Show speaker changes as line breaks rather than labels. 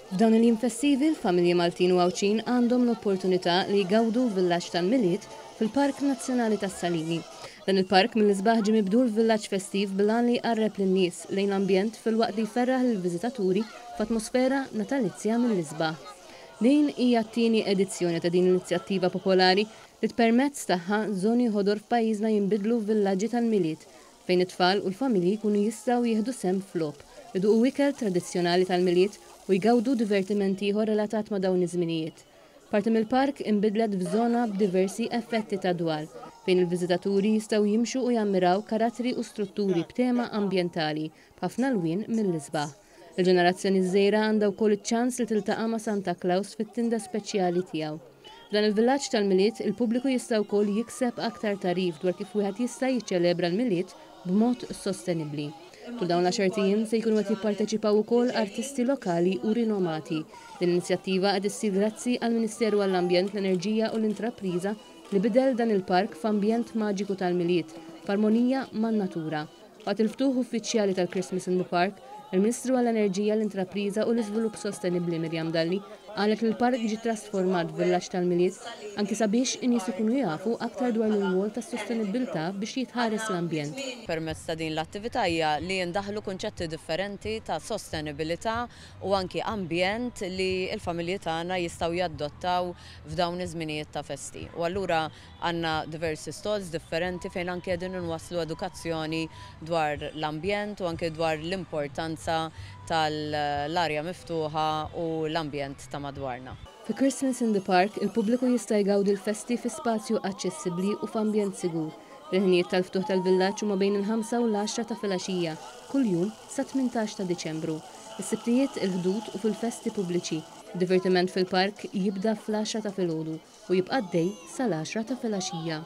F'dawn il-jiem festivi, l-familji Maltin u Għawdxin għandhom l-opportunità li jgawdu villaġġ tal-Milied fil-Park Nazzjonali tas-Salini. Dan il-park mill-isbaħ ġie mibdul f'villaġġ festiv bil-għan li jqarreb lin-nies lejn l-ambjent filwaqt li jferraħ lill-viżitaturi f'atmosfera natalizja mill-isbaħ. Din hija t-tieni edizzjoni ta' din l-inizjattiva popolari li permezz tagħha żoni ħodor f'pajjiżna jinbidlu f'villaġġi tal-Milied fejn it-tfal u l-familji jkunu jistgħu jieħdu sehem f'logħob, iduqu ikel tradizzjonali tal-Milied u jgawdu divertiment ieħor relatat ma' dawn iż-żminijiet. Parti mill-park inbidlet f'żona b'diversi effetti ta' dwal, fejn il-viżitaturi jistgħu jimxu u jammiraw karattri u strutturi b'tema ambjentali b'ħafna lwien mill-isbaħ. Il-ġenerazzjoni ż-żgħira għandha wkoll iċ-ċans li tiltaqa' ma' Santa Claus fit-tinda speċjali tiegħu. F'dan il-villaġġ tal-Milied, il-pubbliku jista' wkoll jikseb aktar tagħrif dwar kif wieħed jista' jiċċelebra l-Milied b'mod sostenibbli. Tul dawn l-għaxart ijiem se jkunu qed jipparteċipaw ukoll artisti lokali u rinomati. Din l-inizjattiva qed issir grazzi għall-Ministeru għall-Ambjent, l-Enerġija u l-Intrapriża li bidel dan il-park f'ambjent maġiku tal-Milied, f'armonija man-natura. Waqt il-ftuħ uffiċjali tal-Christmas in the Park, il-Ministru għall-Enerġija, l-Intrapriża u l-Iżvilupp Sostenibbli Miriam Dalli qalet li l-park ġie trasformat f'villaġġ tal-Milied anki sabiex in-nies ikunu jafu aktar dwar l-irwol tas-sostenibbiltà biex jitħares l-ambjent.
Permezz ta' din l-attività hija li jindaħlu kunċetti differenti ta' sostenibilità u anki ambjent li l-familji tagħna jistgħu jadottaw f'dawn iż-żminijiet ta' festi. U allura għandna diversi stalls differenti fejn anki qegħdin inwasslu edukazzjoni dwar l-ambjent u anki dwar l-importanza tal-arja miftuħa u l-ambjent ta' madwarna.
Fi Christmas in the Park, il-pubbliku jista' jgawdi l-festi fi spazju aċċessibbli u f'ambjent sigur. Il-ħinijiet tal-ftuħ tal-villaġġ huma bejn il-5 u l-10 ta' filgħaxija, kuljum sa 18 ta' Diċembru. Is-Sibtijiet, il-Ħdud u fil-festi pubbliċi. Divertiment fil-park jibda fl-10 ta' filgħodu u jibqa' għaddej sal-10 ta' filgħaxija.